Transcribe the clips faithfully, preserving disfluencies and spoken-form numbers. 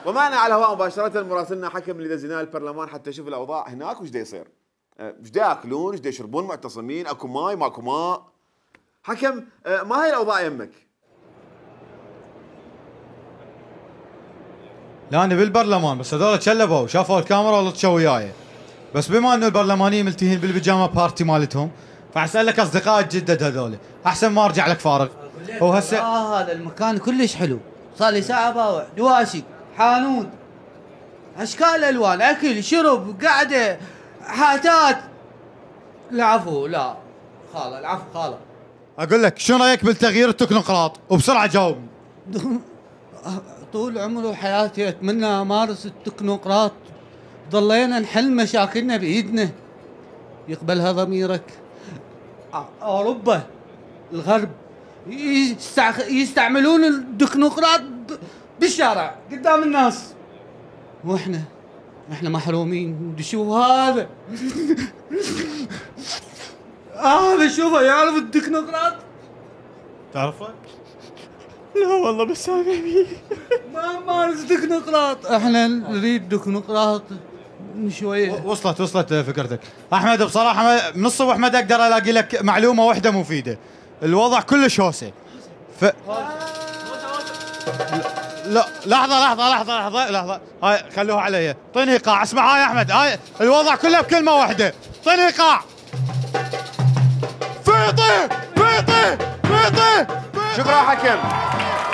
ومعنا على الهواء مباشرة مراسلنا حكم اللي دزيناه البرلمان حتى يشوف الاوضاع هناك وش دا يصير. ايش دا ياكلون؟ ايش دا يشربون معتصمين؟ اكو ماي ماكو ماء؟ حكم ما هي الاوضاع يمك؟ لا انا بالبرلمان بس هذول تشلبوا شافوا الكاميرا ولطشوا وياي. بس بما انه البرلمانيين ملتهين بالبيجامه بارتي مالتهم فاسالك اصدقاء الجدد هذول احسن ما ارجع لك فارغ. هو هسه اه هذا المكان كلش حلو، صار لي ساعه باوع، دواشي، حانوت، اشكال الوان، اكل، شرب، قعده، حاتات. العفو لا خاله، العفو خاله. اقول لك شو رايك بالتغيير التكنوقراط وبسرعه جاوبني. طول عمري وحياتي اتمنى امارس التكنوقراط، ضلينا نحل مشاكلنا بايدنا. يقبلها ضميرك. اوروبا الغرب يستعملون التكنوقراط بالشارع قدام الناس، واحنا احنا محرومين. شو هذا؟ هذا شوفه يعرف التكنوقراط؟ تعرفه؟ لا والله بس سامعني. ما مارس تكنوقراط، احنا نريد تكنوقراط شويه. وصلت وصلت فكرتك احمد. بصراحه من الصبح ما اقدر الاقي لك معلومه واحده مفيده. الوضع كلش هوسه. ف لا لحظه لحظه لحظه لحظه لحظه هاي خلوها علي. اعطيني ايقاع. اسمع هاي يا احمد، هاي الوضع كله بكلمه واحده. اعطيني ايقاع. فيطي فيطي فيطي. شكرا حكم،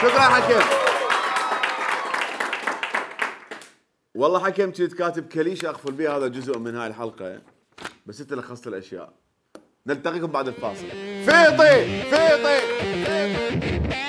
شكرا حكم. والله حكم كنت كاتب كليشه اقفل بها هذا جزء من هاي الحلقه، بس انت لخصت الاشياء. نلتقيكم بعد الفاصل. فيطي فيطي, فيطي.